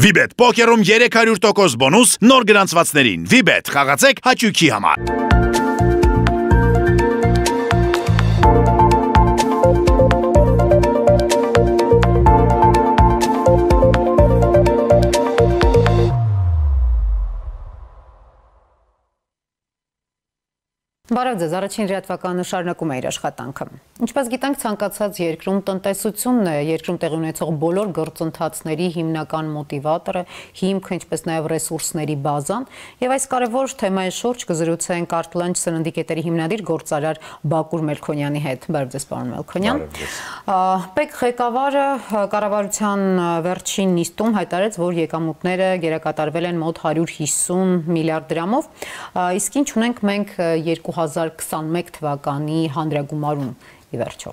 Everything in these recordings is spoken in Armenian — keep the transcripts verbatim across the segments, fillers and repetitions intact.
Վիբեթ պոկերում երեք հարյուր տոկոս բոնուս նոր գրանցվածներին։ Վիբեթ խաղացեք հաճույքի համար։ Բարև ձեզ, առաջին լրատվականը շարունակում է իր աշխատանքը։ Ինչպես գիտենք, ցանկացած երկրում տնտեսությունն է երկրում տեղի ունեցող բոլոր գործընթացների հիմնական մոտիվատորը, հիմքը, ինչպես նաև ռեսուրսների բազան, եւ այս կարևոր թեմայի շուրջ կզրուցենք Artlanch սննդի կետերի հիմնադիր գործարար Բակուր Մելքոնյանի հետ։ Բարև ձեզ, պարոն Մելքոնյան։ ՊԵԿ ղեկավարը կառավարության վերջին նիստում հայտարարեց, որ եկամուտները գերակատարվել են մոտ հարյուր հիսուն միլիարդ դրամով, իսկ ինչ ունենք մենք երկու հազար քսանմեկ թվականի հանրագումարում ի վերջո։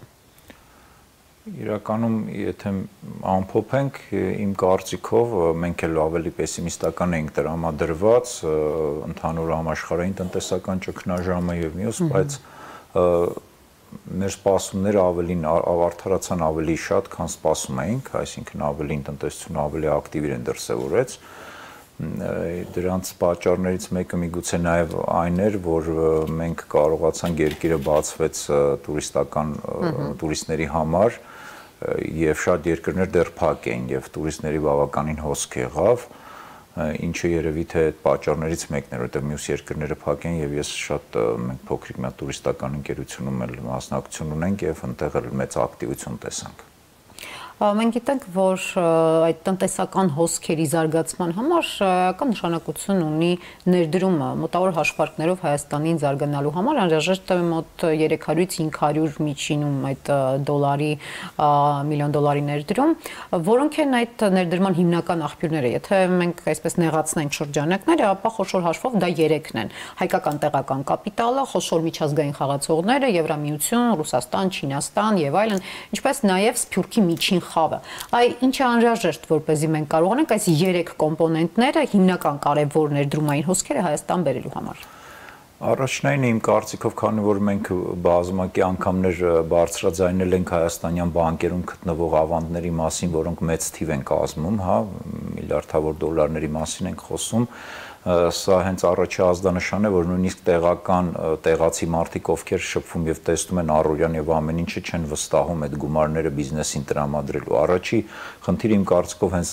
Իրականում, եթե ամփոփենք, իմ կարծիքով մենք էլ ավելի պեսիմիստական ենք տրամադրված ընդհանուր համաշխարհային տնտեսական ճգնաժամը եւ մյուս, բայց մեր սպասումները ավելին արդարացան ավելի շատ, քան սպասում էինք, այսինքն ավելին տնտեսությունը ավելի ակտիվ իրեն դրսևորեց։ Դրանց պատճառներից մեկը միգուցե նաև այն էր, որ մենք կարողացանք երկիրը բացվեց տուրիստական տուրիստների համար եւ շատ երկրներ դեռ փակ էին եւ տուրիստների բավականին հոսք եղավ, ինչը երևի թե այդ պատճառներից մեկն էր, որտեղ մյուս երկրները փակ են եւ ես շատ մենք փոքրիկ մի տուրիստական ընկերությունում էլ մասնակցություն ունենք եւ այնտեղ էլ մեծ ակտիվություն տեսանք։ Մենք գիտենք, որ այդ տնտեսական հոսքերի զարգացման համար կան նշանակություն ունի ներդրումը, մոտավոր հաշվարկներով Հայաստանին զարգանալու համար անհրաժեշտ է մոտ երեք հարյուրից հինգ հարյուր միջինում այդ դոլարի միլիոն դոլարի ներդրում, որոնք են այդ ներդրման հիմնական աղբյուրները։ Եթե մենք այսպես նեղացնենք շրջանակները, ապա խոշոր հաշվով դա երեքն են՝ հայկական տեղական կապիտալը, խոշոր միջազգային խաղացողները, Եվրամիություն, Ռուսաստան, Չինաստան եւ այլն, ինչպես նաեւ Սփյուռքի միջին խավը։ Այ ինչ է անհրաժեշտ, որպեսզի մենք կարողանանք այս երեք կոմպոնենտները, հիմնական կարևոր ներդրումային հոսքերը Հայաստան բերելու համար։ Առաջնային իմ կարծիքով, քանի որ մենք բազմակի անգամներ բարձրաձայնել ենք հայաստանյան բանկերում գտնվող ավանդների մասին, որոնք մեծ թիվ են կազմում, հա, միլիարդավոր դոլարների մասին ենք խոսում, սա հենց առաջի ազդանշան է, որ նույնիսկ տեղական տեղացի մարդիկ, ովքեր շփվում եւ տեսնում են առօրյան եւ ամեն ինչը, չեն վստահում այդ գումարները բիզնեսին տրամադրելու։ Առաջի խնդիրը իմ կարծիքով հենց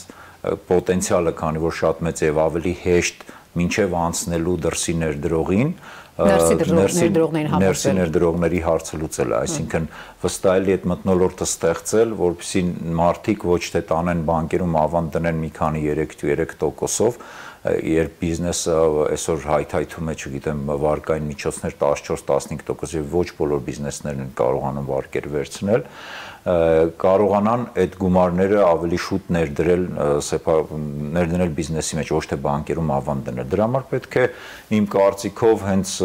պոտենցիալը, քանի որ շատ մեծ է եւ ավելի հեշտ մինչև անցնելու դրսի ներդրողին, ներսի ներդրողների հարցը լուծելը, այսինքն վստահելի այդ մթնոլորտը ստեղծել, որպեսզի մարդիկ ոչ թե տանեն բանկերում ավանդ դնեն մի քանի երեք տոկոսով, երբ բիզնեսը այսօր հայթայթում է, չգիտեմ, վարկային միջոցներ տասնչորս տասնհինգ տոկոս եւ ոչ բոլոր բիզնեսներն են կարողանում վարկեր վերցնել, կարողանան այդ գումարները ավելի շուտ ներդրել, ներդնել բիզնեսի մեջ, ոչ թե բանկերում ավանդ դնել։ Դրա համար պետք է իմ կարծիքով հենց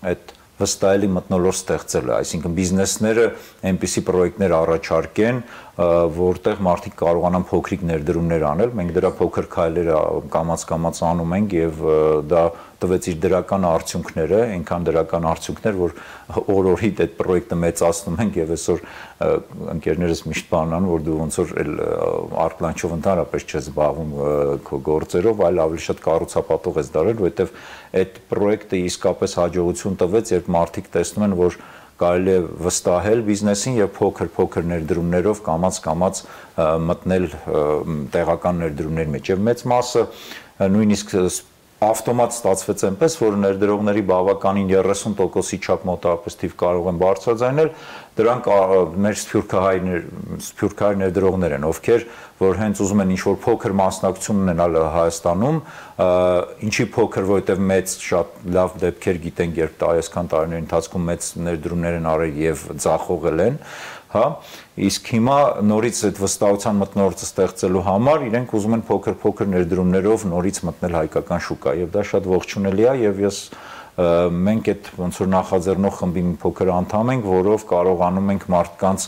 այդ վստահելի մթնոլորտ ստեղծելը, այսինքն բիզնեսները այնպիսի պրոյեկտներ առաջարկեն, որտեղ մարդիկ կարողանան փոքրիկ ներդրումներ անել, մենք դրա փոքր քայլերը կամաց-կամաց անում ենք եւ դա տվեց իր դրական արդյունքները, այնքան դրական արդյունքներ, որ օր-օրիդ այդ պրոյեկտը մեծացնում ենք եւ այսօր ընկերներս միշտ բանան, որ դու ոնց որ Artlanch-ով ընդհանրապես չես զբաղվում քո գործերով, այլ ավելի շատ կառուցապատող ես դարել, որովհետեւ այդ պրոյեկտը իսկապես հաջողություն տվեց, երբ մարդիկ տեսնում են, որ կարելի է վստահել բիզնեսին եւ փոքր-փոքր ներդրումներով կամաց-կամաց մտնել տեղական ներդրումների մեջ եւ մեծ մասը նույնիսկ ավտոմատ ստացվեց այնպես, որ ներդրողների բավականին երեսուն տոկոսի չափ մոտավորապես թիվ կարող են բարձրաձայնել, դրանք մեր սփյուռքահայ ներդրողներ են, ովքեր որ հենց ուզում են ինչ-որ փոքր մասնակցություն ունենալ Հայաստանում, ինչի փոքր, որովհետև մեծ շատ լավ դեպքեր գիտենք, երբ այսքան տարիների ընթացքում մեծ ներդրումներ են արել եւ ձախողել են, հա, իսկ հիմա նորից այդ վստահության մթնոլորտը ստեղծելու համար իրենք ուզում են փոքր-փոքր ներդրումներով նորից մտնել հայկական շուկա եւ դա շատ ողջունելի է եւ ես մենք այդ ոնց որ նախաձեռնող խմբի մի փոքր անդամ ենք, որով կարողանում ենք մարդկանց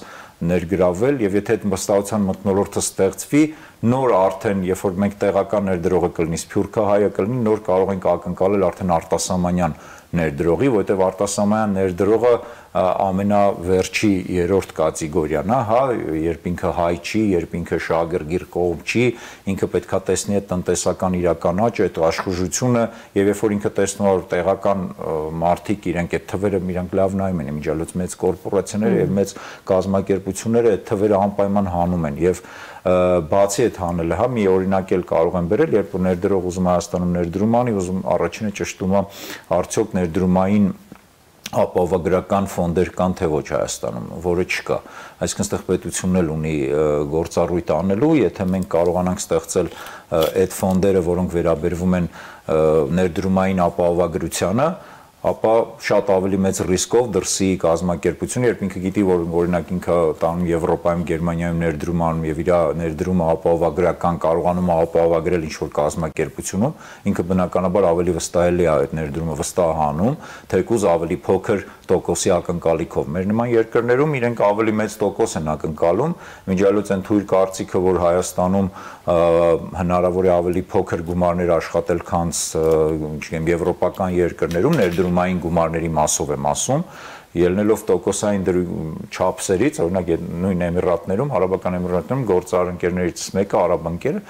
ներգրավել եւ եթե այդ վստահության մթնոլորտը ստեղծվի, նոր արդեն երբ որ մենք տեղական ներդրողը կլինի, սփյուռքահայը կլինի, նոր կարող ենք ակնկալել արդեն արտասահմանյան ներդրողի, որտեղ արտասահմանյան ներդրողը ամենավերջի երրորդ կատեգորիան է, հա, երբ ինքը հայ չի, երբ ինքը շահագրգիռ կողմ չի, ինքը պետքա տեսնի այդ տնտեսական իրական աճը, այդ աշխուժությունը, եւ երբ որ ինքը տեսնում է որ տեղական մարդիկ իրենք այդ թվերը իրանք լավ նայում են, իմիջիալոց մեծ կորպորացիաները եւ մեծ կազմակերպությունները այդ թվերը անպայման հանում են եւ բացի այդ հանելը, հա, մի օրինակ էլ կարող եմ բերել, երբ որ ներդրող ուզում Հայաստանում ներդրում անի, ուզում առաջինը ճշտում է արդյոք ներդրումային ապահովագրական ֆոնդեր կան թե ոչ Հայաստանում, որը չկա։ Այսինքն ստեղ պետությունն էլ ունի գործառույթ անելու, եթե մենք կարողանանք ստեղծել այդ ֆոնդերը, որոնք վերաբերվում են ներդրումային ապահովագրությանը, ապա շատ ավելի մեծ ռիսկով դրսի կազմակերպությունը, երբ ինքը գիտի, որ օրինակ ինքը տանում Եվրոպայում, Գերմանիայում ներդրում անում եւ իր ներդրումը ապահովագրական կարողանում է ապահովագրել ինչ-որ կազմակերպությունում, ինքը բնականաբար ավելի վստահելի է այդ ներդրումը վստահանում, թեկուզ ավելի փոքր տոկոսի ակնկալիքով։ Մեր նման երկրներում իրենք ավելի մեծ տոկոս են ակնկալում, միջալոց են թույլ կարծիքը, որ Հայաստանում հնարավոր է ավելի փոքր գումարներ աշխատել, քան չգիտեմ եվրոպական երկրներում ներդրումային գումարների մասով եմ ասում, ելնելով տոկոսային չափսերից, օրինակ նույն Էմիրատներում, Արաբական Էմիրատներում գործարար ընկերներից մեկը արաբանկերը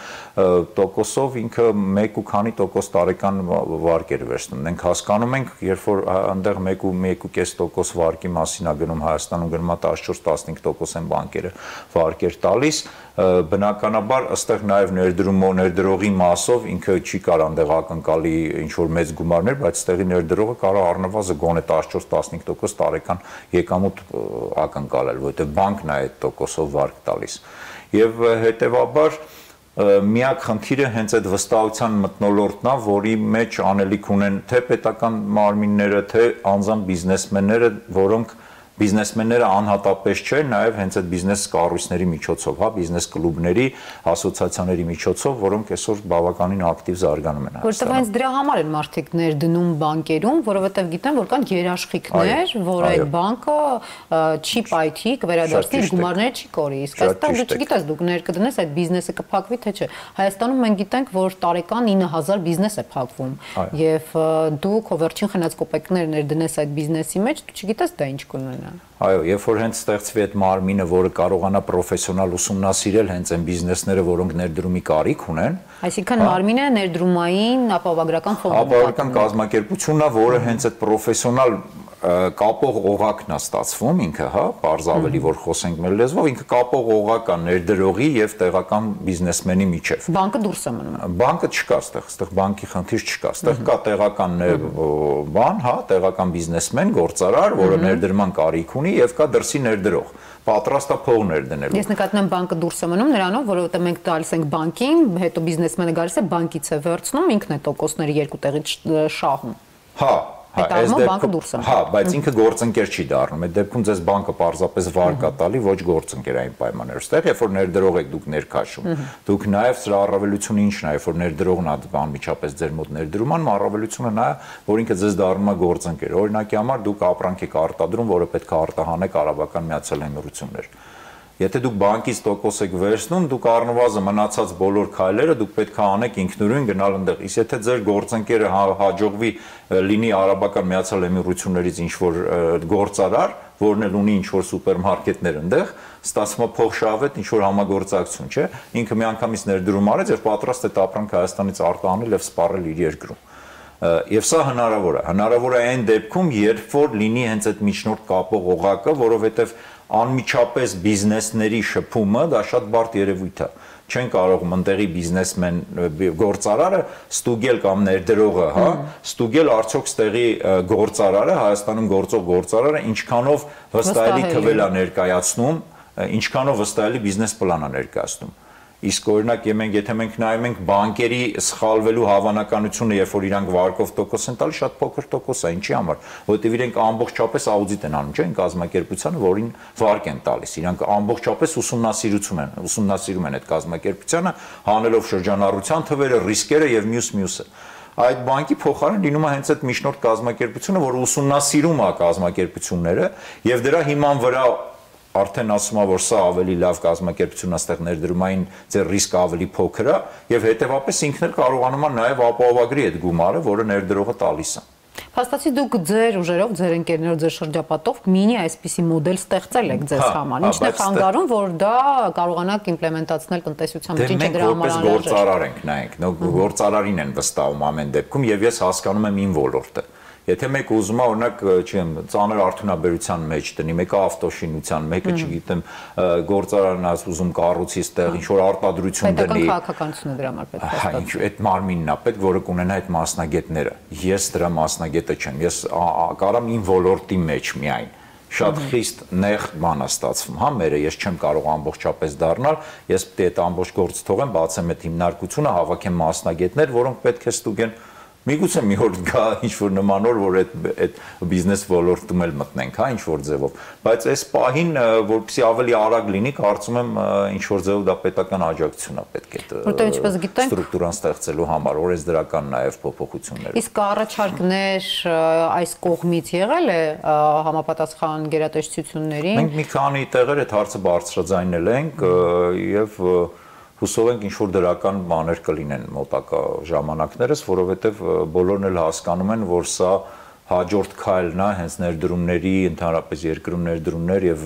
տոկոսով ինքը մեկ ու քանի տոկոս տարեկան վարկեր վերցնում։ Մենք հասկանում ենք, երբ որ այնտեղ մեկ ու մեկ ու կես տոկոս վարկի մասին է գնում, Հայաստանում գնում է տասնչորս տասնհինգ տոկոս են բանկերը վարկեր տալիս, բնականաբար ըստեղ նաև ներդրումո ներդրողի մասով ինքը չի կարող այնտեղ ակնկալի ինչ որ մեծ գումարներ, բայց ստեղի ներդրողը կարող առնվազն գոնե տասնչորս տասնհինգ տոկոս տարեկան եկամուտ ակնկալել, որովհետև բանկն է այդ տոկոսով վարկ տալիս։ Եվ հետևաբար միակ խնդիրը հենց այդ վստահության մթնոլորտն է, որի մեջ անելիք ունեն թե պետական մարմինները, թե անձամբ բիզնեսմենները, որոնք բիզնեսմենները անհատապես չէ, նաև հենց այդ բիզնես կառույցների միջոցով, հա, բիզնես կլուբների, ասոցիացիաների միջոցով, որոնք այսօր բավականին ակտիվ զարգանում են։ Որտեղ հենց դրա համար են մարդիկ ներդնում բանկերում, որովհետև գիտեն, որ կան երաշխիքներ, որ այդ բանկը չի պայթի, կվերադարձնի, գումարները չի կորի։ Իսկ այստեղ դու չգիտես, դուք ներկդնես այդ բիզնեսը կփակվի թե չէ։ Հայաստանում մենք գիտենք, որ տարեկան ինը հազար բիզնես է փակվում, եւ դու քո վերջին խնած կոպեկները ներդնես այդ բիզնեսի մեջ, դու չգիտես դա ինչ կունենա։ Այո, երբ որ հենց ստեղծվի այդ մարմինը, որը կարողանա պրոֆեսիոնալ ուսումնասիրել հենց այն բիզնեսները, որոնք ներդրումի կարիք ունեն, այսինքն մարմինը ներդրումային ապահովագրական ֆոնդը, ապահովագրական կազմակերպությունն է, որը հենց այդ պրոֆեսիոնալ կապող օղակն է ստացվում ինքը, հա, բարձ ավելի որ խոսենք մեր լեզվով, ինքը կապող օղակ է ներդրողի եւ տեղական բիզնեսմենի միջեւ։ Բանկը դուրս է մնում։ Բանկը չկա այստեղ, այստեղ բանկի խնդիր չկա, այստեղ կա տեղական բան, հա, տեղական բիզնեսմեն, գործարար, որը ներդրման կարիք ունի եւ կա դրսի ներդրող, պատրաստ է փող ներդնելու։ Ես նկատում եմ բանկը դուրս է մնում նրանով, որովհետեւ մենք տալիս ենք բանկին, հետո բիզնեսմենը գալիս է բանկից է վերցնում, ինքն է տոկոսները երկու տեղից շահում։ Հա, Հա, այս դեպքում, հա, բայց ինքը գործընկեր չի դառնում։ Այդ դեպքում ձեզ բանկը պարզապես վարկ է տալի ոչ գործընկերային պայմաններով։ Այստեղ երբ որ ներդրող եք դուք ներքաշում, դուք նաև սրա առավելությունը ինչն է, երբ որ ներդրողն է անմիջապես ձեր մոտ ներդրում անում, առավելությունը նա է, որ ինքը ձեզ դառնում է գործընկեր։ Օրինակի համար դուք ապրանք եք արտադրում, որը պետք է արտահանեք Արաբական Միացյալ Էմիրություններ։ Եթե դուք բանկից տոկոս եք վերցնում, դուք առնվազն մնացած բոլոր քայլերը դուք պետք է անեք ինքնուրույն գնալ այնտեղ։ Իսկ եթե ձեր գործընկերը հաջողվի լինի Արաբական Միացյալ Էմիրություններից ինչ-որ գործարար, որն էլ ունի ինչ-որ սուպերմարկետներ այնտեղ, ստացվում է փոխշահվետ ինչ-որ համագործակցություն, չէ՞։ Ինքը միանգամից ներդրում արեց եւ պատրաստ է ապրանքը Հայաստանից արտահանել եւ սպառել իր երկրում։ Եվ սա հնարավոր է։ Հնարավոր է այն դեպքում, երբ որ լինի հենց այդ միջնորդ կապող օղակը, որովհետեւ անմիջապես բիզնեսների շփումը դա շատ բարդ երևույթ է։ Չեն կարող մտեղի բիզնեսմեն գործարարը ստուգել կամ ներդրողը, հա, ստուգել արդյոք ստեղի գործարարը, Հայաստանում գործող գործարարը ինչքանով վստահելի թվել է ներկայացնում, ինչքանով վստահելի բիզնես պլան է ներկայացնում։ Իսկ օրինակ մենք եթե մենք նայում ենք բանկերի սխալվելու հավանականությունը, երբ որ իրանք վարկով տոկոս են տալի, շատ փոքր տոկոս է, ինչի համար, որովհետև իրենք ամբողջապես աուդիտ են անում, չէ՞, այն կազմակերպությանը, որին վարկ են տալիս, իրանք ամբողջապես ուսումնասիրություն են, ուսումնասիրում են այդ կազմակերպությանը, հանելով շրջանառության թվերը, ռիսկերը եւ մյուս-մյուսը։ Այդ բանկի փոխարեն լինում է հենց այդ միջնորդ կազմակերպությունը, որը ուսումնասիրում է կազմակերպությունները եւ դրա հիման վրա արդեն ասում է, որ սա ավելի լավ կազմակերպություն է, այստեղ ներդրումային ձեր ռիսկը ավելի փոքր է եւ հետեւապես ինքն էլ կարողանում է նաեւ ապահովագրի այդ գումարը, որը ներդրողը տալիս է։ Փաստացի դուք ձեր ուժերով, ձեր ընկերներով, ձեր շրջապատով մինի այսպիսի մոդել ստեղծել եք ձեզ համար։ Ինչն է խանգարում, որ դա կարողանաք իմպլեմենտացնել տնտեսության մեջ, ինչը դրա համար անհրաժեշտ է։ Մենք որպես գործարար ենք, նայենք, գործարարին են վստահում ամեն դեպքում եւ ես հասկանում եմ իմ ոլորտը։ Եթե մեկը ուզում է օրինակ, չեմ, ծանր արդյունաբերության մեջ դնի, մեկը ավտոշինության, մեկը, չգիտեմ, գործարանն է ուզում կառույցի ստեղ ինչ որ արտադրություն դնի։ Պետական քաղաքականությունը դրա համար պետք է հա, ինչ այդ մարմինն է պետք, որը կունենա այդ մասնագետները։ Ես դրա մասնագետը չեմ։ Ես կարամ իմ ոլորտի մեջ միայն շատ խիստ նեղ բան է ստացվում, հա, մերը ես չեմ կարող ամբողջապես դառնալ, ես պետք է այդ ամբողջ գործը թողեմ, բացեմ այդ հիմնարկությունը, հավաքեմ մասնագետներ, որոնք պետք է ստուգեն Միգուցե մի օր գա ինչ-որ նման օր, որ այդ այդ բիզնես ոլորտում էլ մտնենք, հա, ինչ-որ ձևով, բայց այս պահին, որպեսզի ավելի արագ լինի, կարծում եմ ինչ-որ ձևով դա պետական աջակցություն է պետք է ստրուկտուրան ստեղծելու համար, օրենսդրական նաև փոփոխություններ։ Իսկ առաջարկներ այս կողմից եղել է համապատասխան գերատեսչություններին։ Մենք մի քանի տեղեր այդ հարցը բարձրաձայնել ենք եւ Հուսով ենք ինչ-որ դրական բաներ կլինեն մոտակա ժամանակներս, որովհետև բոլորն էլ հասկանում են, որ սա հաջորդ քայլն է հենց ներդրումների, ընդհանրապես երկրում ներդրումներ եւ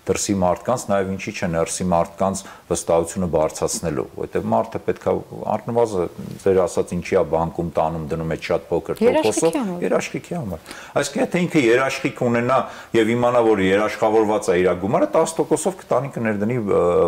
դրսի մարդկանց, նաեւ ինչի՞ չէ ներսի մարդկանց վստահությունը բարձրացնելու, որովհետեւ մարդը պետք է առնվազն ձեր ասած ինչի է բանկում տանում դնում այդ շատ փոքր տոկոսով երաշխիքի համար։ Այսինքն եթե ինքը երաշխիք ունենա եւ իմանա, որ երաշխավորված է իր գումարը տասը տոկոսով կտանի կներդնի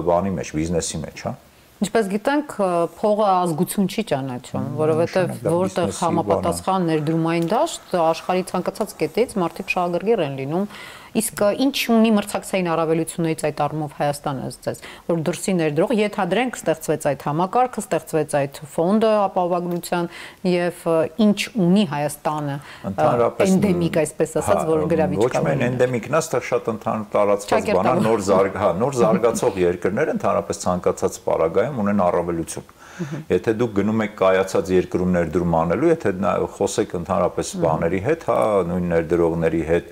բանի մեջ, բիզնեսի մեջ, հա։ Ինչպես գիտենք, փողը ազգություն չի ճանաչում, որովհետև որտեղ համապատասխան ներդրումային դաշտ աշխարհի ցանկացած կետից մարդիկ շահագրգիռ են լինում, իսկ ինչ ունի մրցակցային առավելություններից այդ առումով Հայաստանը ըստ որ դրսի ներդրող ենթադրենք ստեղծվեց այդ համակարգը, ստեղծվեց այդ ֆոնդը ապահովագրության եւ ինչ ունի Հայաստանը էնդեմիկ այսպես ասած, որ գրավիչ կա։ Ոչ միայն էնդեմիկն է, այստեղ շատ ընդհանուր տարածված բան է, նոր զարգ, հա, նոր զարգացող երկրները ընդհանրապես ցանկացած պարագայում ունեն առավելություն։ Եթե դուք գնում եք կայացած երկրում ներդրում անելու, եթե խոսեք ընդհանրապես բաների հետ, հա, նույն ներդրողների հետ,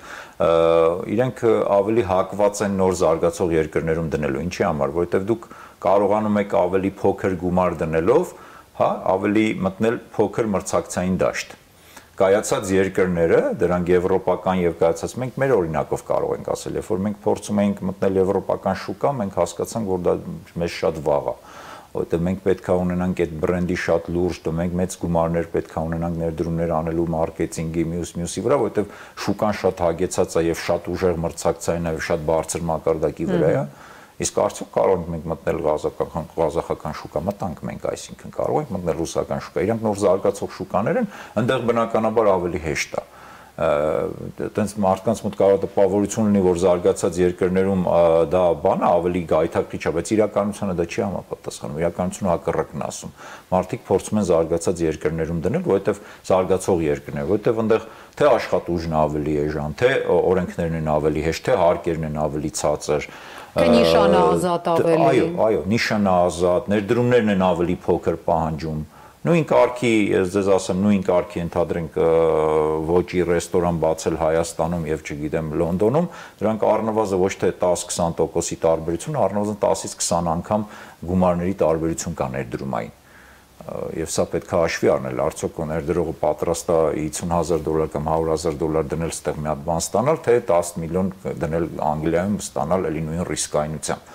իրենք ավելի հակված են նոր զարգացող երկրներում դնելու։ Ինչի համար, որովհետև դուք կարողանում եք ավելի փոքր գումար դնելով, հա, ավելի մտնել փոքր մրցակցային դաշտ։ Կայացած երկրները, դրանք եվրոպական եւ կայացած, մենք մեր օրինակով կարող ենք ասել, երբ որ մենք փորձում էինք մտնել եվրոպական շուկա, մենք հասկացանք, որ դա մեզ շատ վաղ է։ Որտեղ մենք պետք է ունենանք այդ բրենդի շատ լուրջ, մենք մեծ գումարներ պետք է ունենանք ներդրումներ անելու մարքեթինգի, մյուս մյուսի վրա, որտեղ շուկան շատ հագեցած է եւ շատ ուժեղ մրցակցային է եւ շատ բարձր մակարդակի վրա է։ Իսկ արդյոք կարող ենք մենք մտնել ղազախական ղազախական շուկա, մտանք մենք, այսինքն կարող ենք մտնել ռուսական շուկա։ Իրանք նոր զարգացող շուկաներ են, այնտեղ բնականաբար ավելի հեշտ է։ Այդպես մարդկանց մոտ կարող է տպավորություն լինի, որ զարգացած երկրներում դա բանը ավելի գայթակղիչ է, բայց իրականությունը դա չի համապատասխանում։ Իրականությունը հակառակն է ասում։ Մարդիկ փորձում են զարգացած երկրներում դնել, որովհետև զարգացող երկրներ, որովհետև այնտեղ թե աշխատուժն ավելի էժան, թե օրենքներն են ավելի հեշտ, թե հարկերն են ավելի ցածր, թե նիշանը ազատ ավելի։ Այո, այո, նիշանը ազատ, ներդրումներն են ավելի փոքր պահանջում։ Նույն կարգի, ես ձեզ ասեմ, նույն կարգի ընդհանրենք ոճի ռեստորան բացել Հայաստանում եւ չգիտեմ Լոնդոնում, դրանք առնվազն ոչ թե տասը քսան տոկոսի տարբերություն, առնվազն տասից քսան անգամ գումարների տարբերություն կա ներդրումային։ Եվ սա պետք է հաշվի առնել, արդյոք ներդրողը պատրաստ է հիսուն հազար դոլար կամ հարյուր հազար դոլար դնել ստեղ մի հատ բան ստանալ, թե տասը միլիոն դնել Անգլիայում ստանալ էլի նույն ռիսկայնությամբ։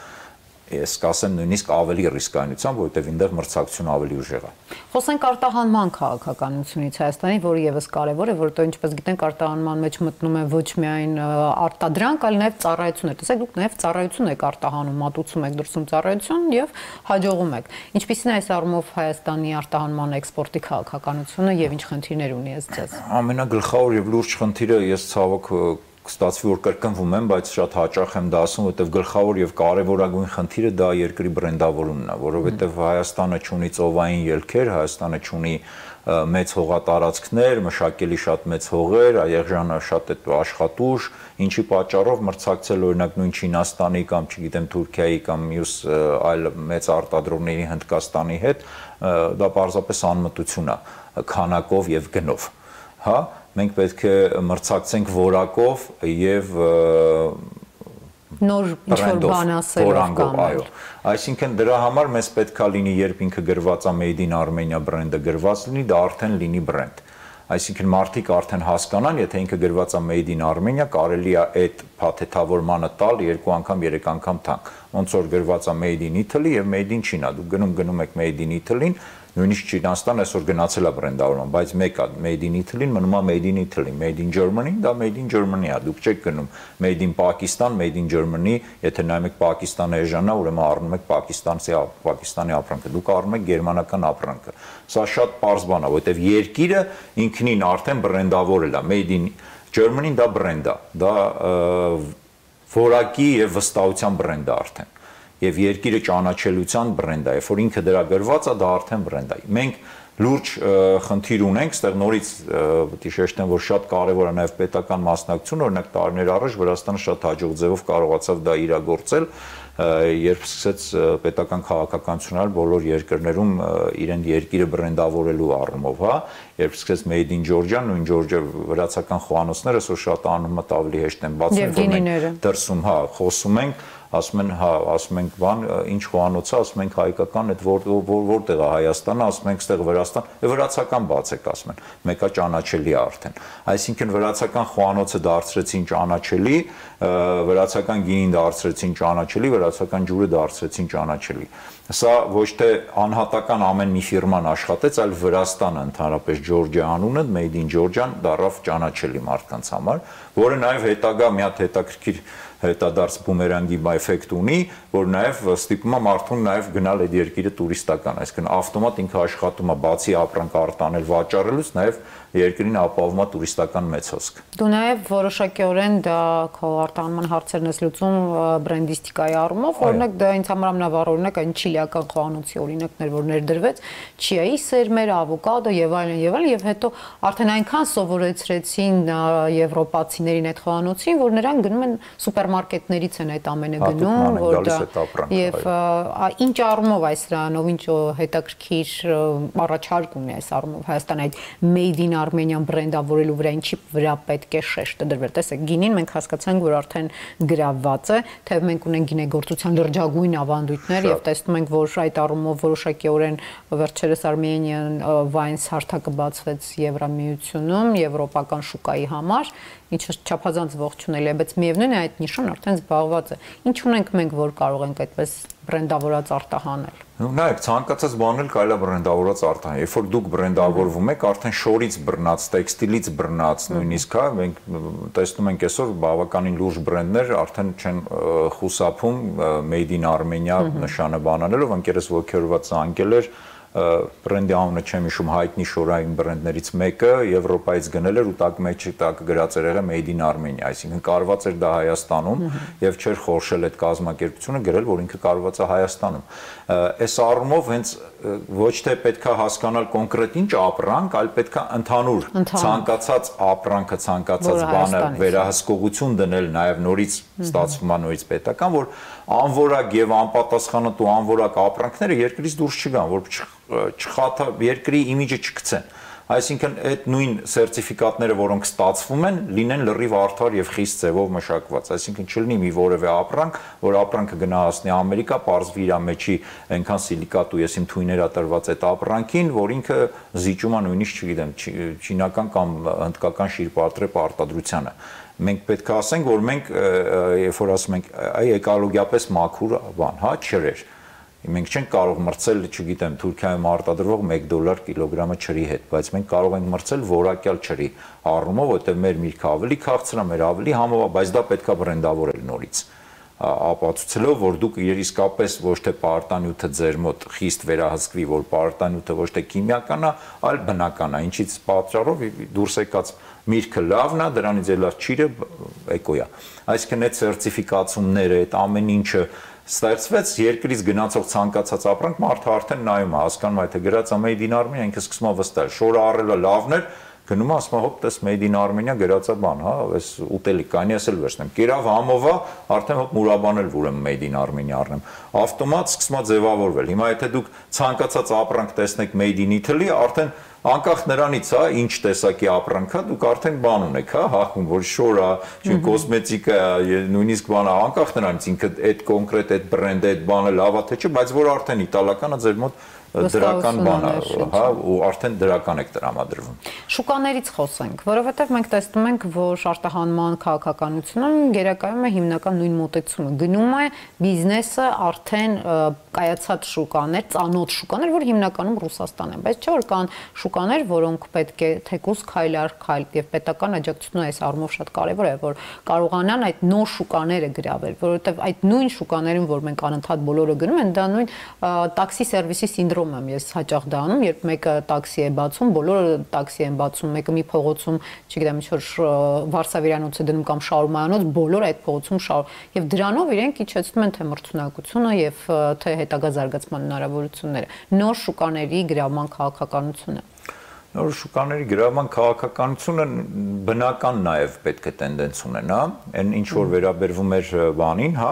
Ես կասեմ նույնիսկ ավելի ռիսկայնությամբ, որովհետև այնտեղ մրցակցությունը ավելի ուժեղ է։ Խոսենք արտահանման քաղաքականությունից Հայաստանի, որը եւս կարեւոր է, որովհետեւ ինչպես գիտենք, արտահանման մեջ մտնում է ոչ միայն արտադրանք, այլ նաեւ ծառայություններ։ Տեսեք, դուք նաեւ ծառայություն եք արտահանում, մատուցում եք դրսում ծառայություն եւ հաջողում եք։ Ինչպիսին է այս առումով Հայաստանի արտահանման էքսպորտի քաղաքականությունը եւ ինչ խնդիրներ ունի ըստ ձեզ։ Ամենագլխավոր եւ լուրջ խնդիրը ես ցավոք Ստացվի որ կրկնվում եմ, բայց շատ հաճախ եմ դա ասում, որովհետև գլխավոր եւ կարեւորագույն խնդիրը դա երկրի բրենդավորումն է, որովհետև Հայաստանը ունի ծովային ելքեր, Հայաստանը ունի մեծ հողատարածքներ, մշակելի շատ մեծ հողեր, Եղեժանը շատ է աշխատուժ, ինչի պատճառով մրցակցել օրինակ նույն Չինաստանի կամ չգիտեմ Թուրքիայի կամ մյուս այլ մեծ արտադրողների Հնդկաստանի հետ, դա պարզապես անմտություն է, քանակով եւ գնով, հա մենք պետք է մրցակցենք որակով եւ նոր ինչ-որ բան ասելով կամ այո, այսինքն դրա համար մեզ պետք է լինի, երբ ինքը գրված է Made in Armenia բրենդը գրված լինի, դա արդեն լինի բրենդ։ Այսինքն մարդիկ արդեն հասկանան, եթե ինքը գրված է Made in Armenia, կարելի է այդ փաթեթավորմանը տալ երկու անգամ, երեք անգամ թանկ։ Ոնց որ գրված է Made in Italy եւ Made in China, դուք գնում գնում եք Made in Italy-ին, նույնիսկ Չինաստան այսօր գնացել է բրենդավորման, բայց մեկը Made in Italy-ին մնում է Made in Italy, Made in Germany, դա Made in Germany է, դուք չեք գնում Made in Pakistan, Made in Germany, եթե նայում եք Պակիստանի էժանա, ուրեմն առնում եք Պակիստանցի Պակիստանի ապրանքը, դուք առնում եք գերմանական ապրանքը։ Սա շատ պարզ բան է, որովհետև երկիրը ինքնին արդեն բրենդավորել է, Made in Germany-ն դա բրենդ է, դա որակի եւ վստահության բրենդ է արդեն։ Եվ երկիրը ճանաչելիության բրենդ է, երբ որ ինքը դրա գրված է, դա արդեն բրենդ է։ Մենք լուրջ խնդիր ունենք, այստեղ նորից պետք է շեշտեմ, որ շատ կարևոր է նաև պետական մասնակցություն, օրինակ տարիներ առաջ Վրաստանը շատ հաջող ձևով կարողացավ դա իրագործել, երբ սկսեց պետական քաղաքականություն անել բոլոր երկրներում իրեն երկիրը բրենդավորելու առումով, հա, երբ սկսեց Made in Georgia, նույն Georgia վրացական խոհանոցները, այսօր շատ անունը ավելի հեշտ են բացվում, որ մենք դրսում, հա, խոսում ենք, ասում են, հա, ասում ենք բան, ինչ խոհանոց է, ասում ենք հայկական, այդ որտեղ է Հայաստանը, ասում ենք ստեղ Վրաստան, վրացական բացեք, ասում են, մեկը ճանաչելի է արդեն։ Այսինքն վրացական խոհանոցը դարձրեցին ճանաչելի, վրացական գինին դարձրեցին ճանաչելի, վրացական ջուրը դարձրեցին ճանաչելի։ Սա ոչ թե անհատական ամեն մի ֆիրման աշխատեց, այլ Վրաստանը ընդհանրապես Georgia անունը, Made in Georgia-ն դառավ ճանաչելի մարդկանց համար, որը նաև հետագա մի հատ հետաքրքիր հետադարձ բումերանգի էֆեկտ ունի, որ նաև ստիպում է մարդուն նաև գնալ այդ երկիրը տուրիստական, այսինքն ավտոմատ ինքը աշխատում է բացի ապրանք արտանել վաճառելուց, նաև երկրին ապահովում է տուրիստական մեծ հոսք։ Դու նաև որոշակիորեն դա քո արտահանման հարցերն ես լուծում բրենդիստիկայի առումով, օրինակ դա ինձ համար ամենավառ օրինակ այն չիլիական խոհանոցի օրինակներ, որ ներդրվեց, չիայի սերմեր, ավոկադո եւ այլն եւ այլն, եւ հետո արդեն այնքան սովորեցրեցին եվրոպացիներին այդ խոհանոցին, որ նրանք գնում են սուպերմարկետներից են այդ ամենը գնում, որ դա եւ ինչ առումով այս դրանով ինչ հետաքրքիր առաջարկ ունի այս առումով Հայաստան այդ Made in Armenian բրենդավորելու վրա ինչի վրա պետք է շեշտը դրվել։ Տեսեք, գինին մենք հասկացանք, որ արդեն գրավված է, թեև մենք ունենք գինեգործության լրջագույն ավանդույթներ եւ տեսնում ենք, որ այդ առումով որոշակիորեն վերջերս Armenian Wines հարթակը բացվեց Եվրամիությունում, եվրոպական շուկայի համար, ինչը չափազանց ողջունելի է, բայց միևնույն է այդ նիշան արդեն զբաղված է։ Ինչ ունենք մենք, որ կարող ենք այդպես բրենդավորած արտահանել։ Նայեք, ցանկացած բան էլ կարելի է բրենդավորած արտահանել։ Երբ որ դուք բրենդավորվում եք, արդեն շորից բռնած, տեքստիլից բռնած, նույնիսկ հա, մենք տեսնում ենք այսօր բավականին լուրջ բրենդներ արդեն չեն խուսափում Made in Armenia նշանը բանանելով, ընկերս ոգևորված զանգել էր բրենդի անունը չեմ հիշում, հայտնի շորային բրենդներից մեկը Եվրոպայից գնել էր ու տակ մեջը տակ գրած էր եղել Made in Armenia, այսինքն կարված էր դա Հայաստանում եւ չէր խորշել այդ կազմակերպությունը գրել, որ ինքը կարված է Հայաստանում։ Այս առումով հենց ոչ թե պետքա հասկանալ կոնկրետ ինչ ապրանք, այլ պետքա ընդհանուր ցանկացած ապրանքը, ցանկացած բանը վերահսկողություն դնել նաեւ նորից ստացվում է նորից պետական, որ անորակ եւ անպատասխանատու անորակ ապրանքները երկրից դուրս չգան, որ չխաթա երկրի իմիջը չգցեն։ Այսինքն այդ նույն սերտիֆիկատները, որոնք ստացվում են, լինեն լրիվ արդար եւ խիստ ձևով մշակված, այսինքն չլինի մի որևէ ապրանք, որ ապրանքը գնահատի Ամերիկա, պարզվի իր մեջի այնքան սիլիկատ ու եսիմ թույներ ա տրված այդ ապրանքին, որ ինքը զիջում է նույնիսկ, չգիտեմ, չինական կամ հնդկական շիրպատրեպ արտադրությանը։ Մենք պետք է ասենք, որ մենք երբ որ ասում ենք, այ էկոլոգիապես մաքուր բան, հա, ջրեր։ Մենք չենք կարող մրցել, չգիտեմ, Թուրքիայում արտադրվող մեկ դոլար կիլոգրամը ջրի հետ, բայց մենք կարող ենք մրցել որակյալ ջրի առումով, որտեղ մեր միրգը ավելի քաղցր է, մեր ավելի համով է, բայց դա պետք է բրենդավորել նորից։ Ապացուցելով, որ դուք իսկապես ոչ թե պարտանյութը ձեր մոտ խիստ վերահսկվի, որ պարտանյութը ոչ թե քիմիական է, այլ բնական է, ինչից պատճառով դուրս եկած միրգը լավն է, դրանից ելած ջիրը էկո է։ Այսինքն այդ սերտիֆիկացումները, այդ ամեն ինչը ստեղծվեց երկրից գնացող ցանկացած ապրանք մարդը արդեն նայում է, հասկանում է, թե գրած է Made in Armenia, ինքը սկսում է վստահել, շորը առելը լավն էր, գնում է, ասում է, հոպ, տես Made in Armenia գրած է բան, հա, այս ուտելիք, կանի ասել վերցնեմ, կերավ համովա, արդեն հոպ մուրաբանել ուրեմն Made in Armenia առնեմ, ավտոմատ սկսում է ձևավորվել։ Հիմա եթե դուք ցանկացած ապրանք տեսնեք Made in Italy, արդեն անկախ նրանից, հա, ինչ տեսակի ապրանք է, դուք արդեն բան ունեք, հա, հախում, որ շոր է, չէ, կոսմետիկա է, նույնիսկ բան է, անկախ նրանից ինքը այդ կոնկրետ այդ բրենդը, այդ բանը լավ է թե չէ, բայց որ արդեն իտալականը ձեր մոտ դրական բան է, հա, ու արդեն դրական եք տրամադրվում։ Շուկաներից խոսենք, որովհետև մենք տեսնում ենք, որ արտահանման քաղաքականությունում գերակայում է հիմնական նույն մոտեցումը։ Գնում է բիզնեսը արդեն կայացած շուկաներ, ծանոթ շուկաներ, որ հիմնականում Ռուսաստան են, բայց չէ որ կան շուկաներ, որոնք պետք է թեկուզ քայլ առ քայլ եւ պետական աջակցությունը այս առումով շատ կարեւոր է, որ կարողանան այդ նոր շուկաները գրավել, որովհետեւ այդ նույն շուկաներին, որ մենք անընդհատ բոլորը գնում են, դա նույն տաքսի սերվիսի սինդրոմ եմ ես հաճախ դա անում, երբ մեկը տաքսի է բացում, բոլորը տաքսի են բացում, մեկը մի փողոցում, չգիտեմ, ինչ-որ Վարշավիրանոց է դնում կամ Շաուրմանոց, բոլորը այդ փողոցում շար եւ դրանով իրենք իջեցնում են թե մրցունակությունը եւ թե հետագա զարգացման հնարավորությունները, նոր շուկաների գրավման քաղաքականությունը։ Նոր շուկաների գրավման քաղաքականությունը բնական նաև պետք է տենդենս ունենա, այն ինչ որ վերաբերվում էր բանին, հա,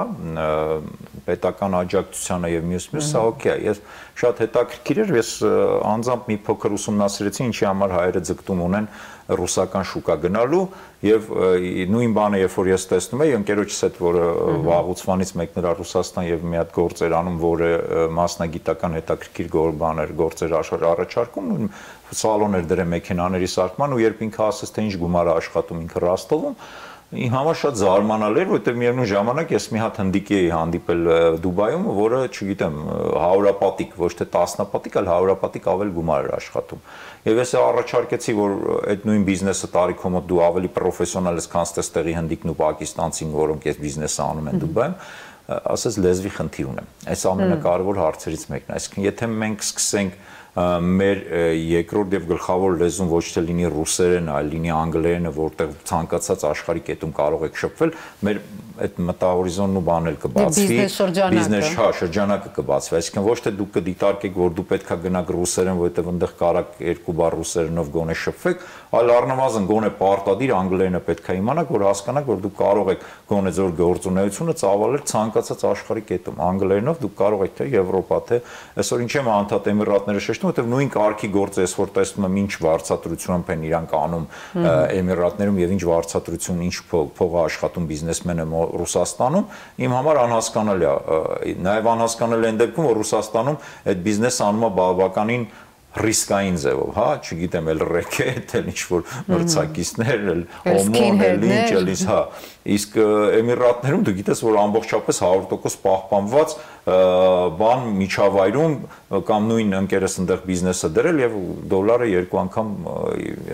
պետական աջակցությանը եւ մյուս-մյուս, սա օքեյ է։ Ես շատ հետաքրքիր էր, ես անձամբ մի փոքր ուսումնասիրեցի, ինչի համար հայերը ձգտում ունեն ռուսական շուկա գնալու եւ նույն բանը երբ որ ես տեսնում եի ընկերոջս հետ որը վաղուցվանից մեկն էր Ռուսաստան եւ մի հատ գործեր անում որը մասնագիտական հետաքրքիր բաներ գործեր առաջարկում սալոն էր դրել մեքենաների սարքման ու երբ ինքը ասաց թե ինչ գումար է աշխատում ինքը Ռոստովում Իմ համար շատ զարմանալի էր, որտեղ միևնույն ժամանակ ես մի հատ հնդիկի էի հանդիպել Դուբայում, որը, չգիտեմ, հարյուրապատիկ, ոչ թե տասնապատիկ, այլ հարյուրապատիկ ավել գումար էր աշխատում։ Եվ ես առաջարկեցի, որ այդ նույն բիզնեսը տարիքով մոտ դու ավելի պրոֆեսիոնալ ես, քան ստեղի հնդիկն ու պակիստանցին, որոնք այս բիզնեսը անում են Դուբայում, ասես լեզվի խնդիր ունեմ։ Այս ամենակարևոր հարցերից մեկն է։ Այսինքն, եթե մենք սկսենք մեր երկրորդ եւ գլխավոր լեզուն ոչ թե լինի ռուսերեն, այլ լինի անգլերենը, որտեղ ցանկացած աշխարհի կետում կարող եք շփվել, մեր այդ մտահորիզոնն ու բանել կբացվի, բիզնես հա շրջանակը կբացվի, այսինքն ոչ թե դուք կդիտարկեք, որ դու պետքա գնաք ռուսերեն, որովհետեւ այնտեղ կարաք երկու բառ ռուսերենով գոնե շփվեք, այլ առնվազն գոնե պարտադիր անգլերենը պետքա իմանաք, որ հասկանաք, որ դուք կարող եք գոնե ձեր գործունեությունը ծավալել ցանկացած աշխարհի կետում, անգլերենով դուք կարող եք թե Եվրոպա, թե այսօր ինչ եմ անդադ Էմիրատները շեշտում, որովհետեւ նույն կարգի գործը ես որ տեսնում եմ ինչ վարձատրությամբ են իրանք անում Էմիրատներում եւ ինչ վարձատրություն, ինչ փող է աշխատում բիզնեսմենը Ռուսաստանում, իմ համար անհասկանալի է, նաեւ անհասկանալի այն դեպքում, որ Ռուսաստանում այդ բիզնեսը անում է բավականին ռիսկային ձևով, հա, չգիտեմ, էլ ռեկետ, էլ ինչ-որ մրցակիցներ, էլ օմոն, էլ ինչ, էլ ինչ, հա, իսկ Էմիրատներում դու գիտես, որ ամբողջապես հարյուր տոկոս պահպանված բան միջավայրում կամ նույն ընկերս այնտեղ բիզնեսը դրել եւ դոլարը երկու անգամ,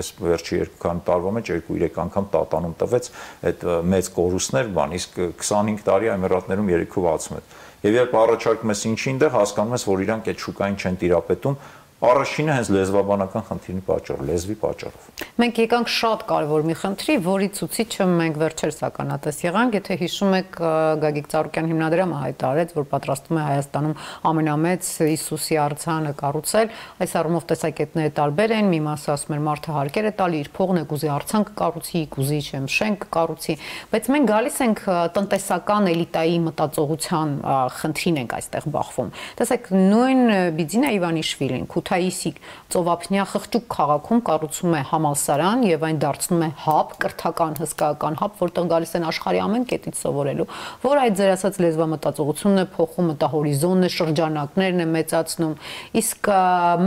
ես վերջի երկու տարվա մեջ երկու-երեք անգամ տատանում տվեց այդ մեծ կորուստներ բան, իսկ քսանհինգ տարի Էմիրատներում երեքով ացում է։ Եվ երբ առաջարկում ես ինչի այնտեղ հասկանում ես, որ իրանք այդ շուկային չեն տիրապետում, Առաջինը հենց լեզվաբանական խնդիրի պատճառով, լեզվի պատճառով։ Մենք եկանք շատ կարևոր մի խնդրի, որի ցուցիչը մենք վերջերս ականատես եղանք, եթե հիշում եք Գագիկ Ծառուկյան հիմնադրամը հայտարարեց, որ պատրաստում է Հայաստանում ամենամեծ Հիսուսի արձանը կառուցել, այս առումով տեսակետները տարբեր են, մի մասը ասում էր մարդը հարկեր է տալի, իր փողն է կուզի արձան կկառուցի, կուզի չեմ շենք կկառուցի, բայց մենք գալիս ենք տնտեսական էլիտայի մտածողության խնդրին ենք այստեղ բախվում։ Տեսեք, նույն Բիձինա Իվանիշվիլին Քութայիսի ծովափնյա խղճուկ քաղաքում կառուցում է համալսարան եւ այն դարձնում է հաբ, կրթական հսկայական հաբ, որտեղ գալիս են աշխարհի ամեն կետից սովորելու, որ այդ ձեր ասած լեզվամտածողությունն է փոխում, մտահորիզոնն է, շրջանակներն է մեծացնում։ Իսկ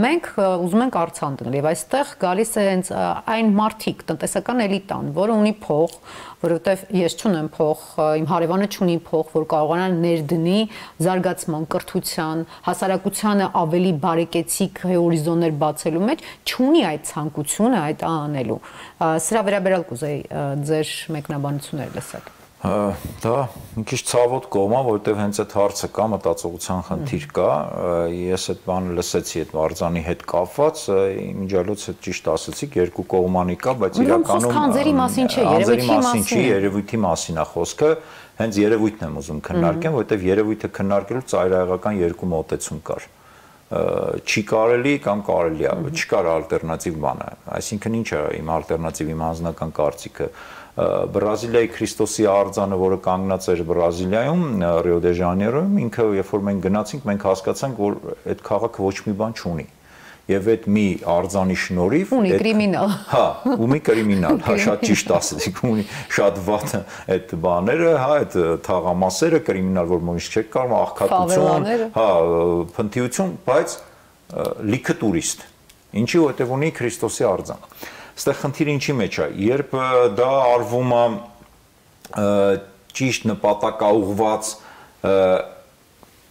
մենք ուզում ենք արձան դնել եւ այստեղ գալիս է հենց այն մարդիկ, տնտեսական էլիտան, որը ունի փող, որովհետեւ ես չունեմ փող, իմ հարևանը չունի փող, որ կարողանա ներդնի զարգացման, կրթության, հասարակությանը ավելի բարեկեցիկ հորիզոններ բացելու մեջ, չունի այդ ցանկությունը այդ անելու։ Սրա վերաբերյալ կուզեի ձեր մեկնաբանությունները լսել։ Դա մի քիչ ցավոտ կողմ է, որովհետև հենց այդ հարցը կա, մտածողության խնդիր կա, ես այդ բանը լսեցի այդ արձանի հետ կապված, իմիջիալոց հետ ճիշտ ասեցիք, երկու կողմանի կա, բայց իրականում անձերի մասին չէ, երևույթի մասին չի, երևույթի մասին է խոսքը, հենց երևույթն եմ ուզում քննարկեմ, որովհետև երևույթը քննարկելու ծայրահեղական երկու մոտեցում կար։ Չի կարելի կամ կարելի է, չկար ալտերնատիվ բանը, այսինքն ինչ է իմ ալտերնատիվ, իմ անձնական կարծիքը, Բրազիլիայի Քրիստոսի արձանը, որը կանգնած էր Բրազիլիայում, Ռիո դե Ժանեյրոյում, ինքը երբ որ մենք գնացինք, մենք հասկացանք, որ այդ քաղաքը ոչ մի բան չունի։ Եվ այդ մի արձանի շնորհիվ ունի կրիմինալ։ Հա, ունի կրիմինալ, հա, շատ ճիշտ ասեցիք, ունի շատ վատ այդ բաները, հա, այդ թաղամասերը, կրիմինալ, որ միշտ չեք կարող, աղքատություն, հա, փնթիություն, բայց լիքը տուրիստ։ Ինչի որտեղ ունի Քրիստոսի արձան։ Այստեղ խնդիրը ինչի մեջ է, երբ դա արվում է ճիշտ նպատակաուղված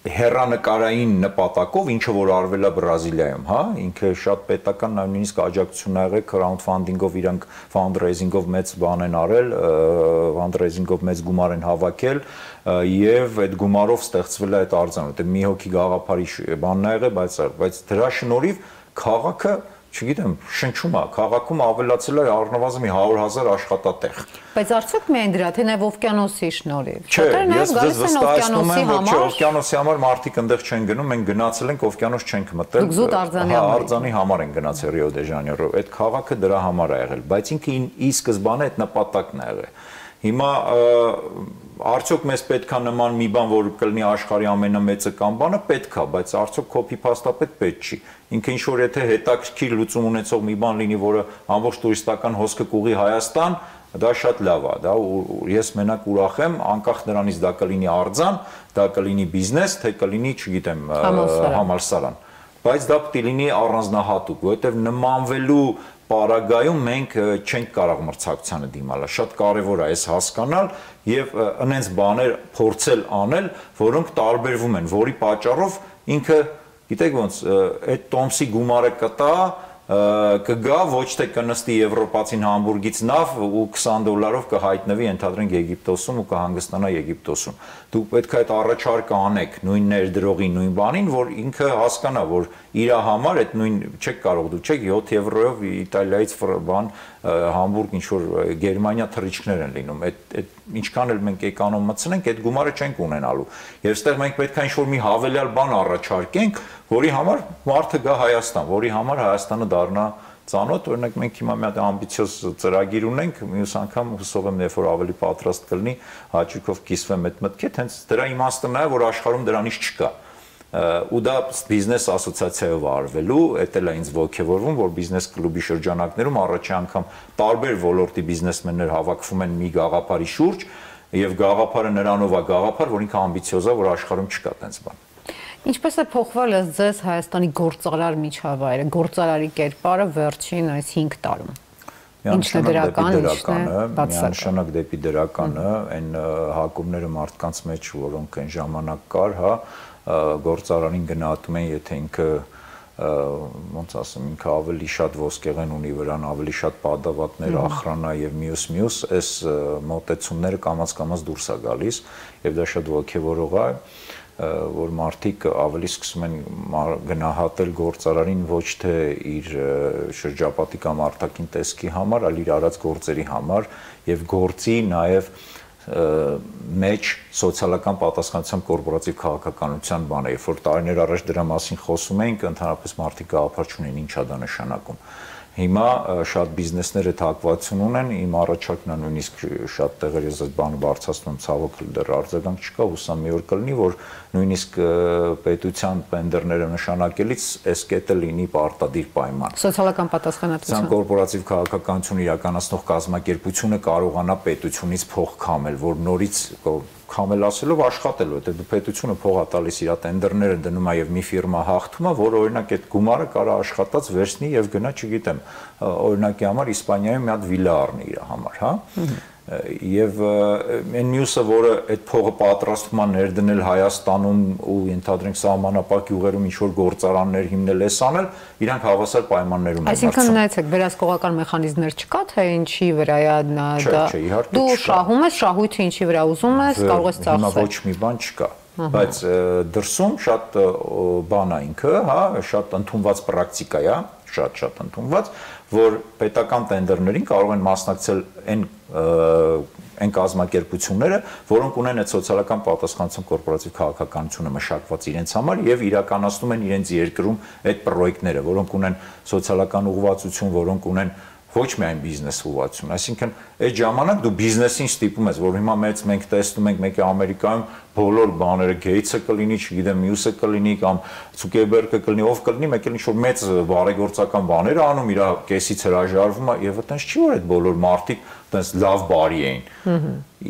հեռանկարային նպատակով, ինչը որ արվել է Բրազիլիայում, հա, ինքը շատ պետական նույնիսկ աջակցություն ա եղել crowdfunding-ով, իրանք fundraising-ով մեծ բան են արել, fundraising-ով մեծ գումար են հավաքել եւ այդ գումարով ստեղծվել է այդ արձանը, որտեղ մի հոգի գաղափարի բանն ա եղել, բայց բայց դրա շնորհիվ քաղաքը չգիտեմ, շնչում է, քաղաքում ավելացել է առնվազն մի հարյուր հազար աշխատատեղ։ Բայց արդյոք միայն դրա, թե նաև օվկիանոսի շնորհիվ։ Չէ, ես ձեզ վստահեցնում եմ, որ չէ, համար օվկիանոսի համար մարդիկ այնտեղ չեն գնում, մենք գնացել ենք, օվկիանոս չենք մտել։ Դուք զուտ արձանի համար։ Հա, արձանի համար են գնացել Ռիո դե Ժանեյրո։ Այդ քաղաքը դրա համար է եղել, բայց ինքը ի սկզբանե այդ նպատակն է եղել։ Հիմա արդյոք մեզ պետքա նման մի բան, որ կլինի աշխարհի ամենամեծը կամ բանը, պետքա, բայց արդյոք կոպի փաստապետ պետք չի։ Ինքը ինչ որ եթե հետաքրքիր լուծում ունեցող մի բան լինի, որը ամբողջ տուրիստական հոսքը կուղի Հայաստան, դա շատ լավ է, դա ես մենակ ուրախ եմ, անկախ նրանից դա կլինի արձան, դա կլինի բիզնես, թե կլինի, չգիտեմ, համալսարան։ Բայց դա պետք է լինի առանձնահատուկ, որովհետև նմանվելու պարագայում մենք չենք կարող մրցակցությանը դիմալ, շատ կարևոր է այս հասկանալ եւ այնենց բաներ փորձել անել, որոնք տարբերվում են, որի պատճառով ինքը, գիտեք ոնց, այդ տոմսի գումարը կտա, կգա, ոչ թե կնստի եվրոպացին Համբուրգից նավ ու քսան դոլարով կհայտնվի ընդհանրենք Եգիպտոսում ու կհանգստանա Եգիպտոսում։ Դուք պետք է այդ առաջարկը անեք նույն ներդրողի, նույն բանին, որ ինքը հասկանա, որ իր համար այդ նույն չեք կարող դու, չեք յոթ եվրոյով Իտալիայից բան Համբուրգ ինչ որ Գերմանիա թռիչքներ են լինում։ Այդ այդ ինչքան էլ մենք էկոնոմ մտցնենք, այդ գումարը չենք ունենալու։ Եվ այստեղ մենք պետք է ինչ որ մի հավելյալ բան առաջարկենք, որի համար մարդը գա Հայաստան, որի համար Հայաստանը դառնա ծանոթ, օրինակ մենք հիմա մի հատ ամբիցիոզ ծրագիր ունենք, մյուս անգամ հուսով եմ, երբ որ ավելի պատրաստ կլինի, հաճույքով կիսվեմ այդ մտքից, հենց դրա իմաստն է, որ աշխարհում դրանից չկա։ Ու դա բիզնես ասոցիացիայով արվելու, էդ էլ է ինձ ոգևորվում, որ բիզնես կլուբի շրջանակներում առաջի անգամ տարբեր ոլորտի բիզնեսմեններ հավաքվում են մի գաղափարի շուրջ, եւ գաղափարը նրանով է գաղափար, որ ինքը ամբիցիոզ է, որ աշխարհում չկա տենց բան։ Ինչպես է փոխվել ձեզ Հայաստանի գործարար միջավայրը, գործարարի կերպարը վերջին այս հինգ տարում։ Ինչն է դրական, ինչն է բացասական։ Միանշանակ դեպի դրականը, այն հակումները մարդկանց մեջ, որոնք այն ժամանակ կար, հա, գործարանին գնահատում են, եթե ինքը ոնց ասեմ, ինքը ավելի շատ ոսկեղեն ունի վրան, ավելի շատ падավատներ, ախրանա եւ մյուս-մյուս, այս մոտեցումները կամաց-կամաց դուրս է գալիս եւ դա շատ ոգևորող է, որ մարդիկ ավելի սկսում են գնահատել գործարարին ոչ թե իր շրջապատի կամ արտաքին տեսքի համար, այլ իր արած գործերի համար եւ գործի նաեւ մեջ սոցիալական պատասխանատվության կորպորատիվ քաղաքականության բանը, երբ որ տարիներ առաջ դրա մասին խոսում էինք, ընդհանրապես մարդիկ գաղափար չունեն ինչ է դա նշանակում։ Հիմա շատ բիզնեսներ այդ հակվածություն ունեն, իմ առաջարկն է նույնիսկ շատ տեղեր ես այդ բանը բարձրացնում, ցավոք դեռ արձագանք չկա, հուսամ մի օր կլինի, որ նույնիսկ պետության տենդերները նշանակելիս այս կետը լինի պարտադիր պայման։ Սոցիալական պատասխանատվություն։ Կորպորատիվ քաղաքականություն իրականացնող կազմակերպությունը կարողանա պետությունից փող քամել, որ նորից քամել ասելով աշխատել, որտեղ դու պետությունը փող է տալիս իր տենդերները դնում է եւ մի ֆիրմա հաղթում է, որ օրինակ այդ գումարը կարա աշխատած վերցնի եւ գնա, չգիտեմ, օրինակի համար Իսպանիայում մի հատ վիլա առնի իր համար, հա։ Եվ այն մյուսը, որը այդ փողը պատրաստվում է ներդնել Հայաստանում ու ընդհանրենք սահմանապահ գյուղերում ինչ որ գործարաններ հիմնել էս անել, իրանք հավասար պայմաններում են։ Այսինքն նայեցեք, վերահսկողական մեխանիզմներ չկա, թե ինչի վրա է դա։ Դու շահում ես, շահույթը ինչի վրա ուզում ես, կարող ես ծախսել։ Հիմա ոչ մի բան չկա։ Բայց դրսում շատ բան է ինքը, հա, շատ ընդունված պրակտիկա է, շատ-շատ ընդունված, որ պետական տենդերներին կարող են մասնակցել այն այն կազմակերպությունները, որոնք ունեն այդ սոցիալական պատասխանատվության կորպորատիվ քաղաքականությունը մշակված իրենց համար եւ իրականացնում են իրենց երկրում այդ պրոյեկտները, որոնք ունեն սոցիալական ուղղվածություն, որոնք ունեն ոչ միայն բիզնես ուղղվածություն, այսինքն այդ ժամանակ դու բիզնեսին ստիպում ես, որ հիմա մեծ մենք տեսնում ենք մեկը Ամերիկայում բոլոր բաները Գեյթսը կլինի, չգիտեմ, մյուսը կլինի կամ Ցուկերբերգը կլինի, ով կլինի, մեկ էլ ինչ-որ մեծ բարեգործական բաներ անում, իր կեսից հրաժարվում է եւ այտենց չի որ այդ բոլոր մարդիկ այտենց լավ բարի էին։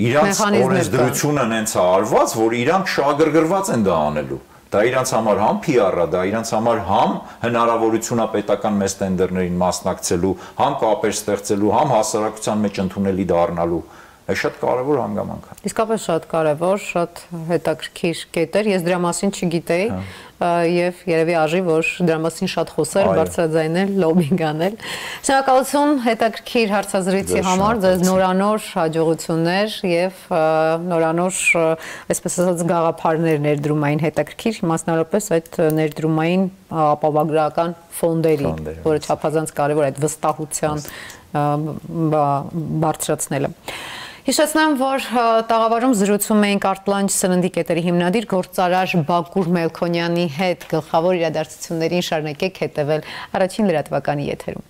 Իրանց օրենսդրությունը նենց է արված, որ իրանք շահագրգռված են դա անելու։ Դա իրանց համար համ P R-ը, դա իրանց համար համ հնարավորություն է պետական մեծ տենդերներին մասնակցելու, համ կապեր ստեղծելու, համ հասարակության մեջ ընդունելի դառնալու։ Այս շատ կարևոր հանգամանք է։ Իսկապես շատ կարևոր, շատ հետաքրքիր կետ էր, ես դրա մասին չգիտեի եւ երևի արժի, որ դրա մասին շատ խոսել, բարձրաձայնել, լոբինգ անել։ Շնորհակալություն հետաքրքիր հարցազրույցի համար, ձեզ նորանոր հաջողություններ եւ նորանոր, այսպես ասած, գաղափարներ ներդրումային հետաքրքիր, մասնավորապես այդ ներդրումային ապահովագրական ֆոնդերի, որը չափազանց կարևոր է այդ վստահության բարձրացնելը։ Հիշեցնեմ, որ տաղավարում զրուցում էինք Արտլանջ սննդի կետերի հիմնադիր գործարար Բակուր Մելքոնյանի հետ, գլխավոր իրադարձություններին շարունակեք հետևել առաջին լրատվականի եթերում։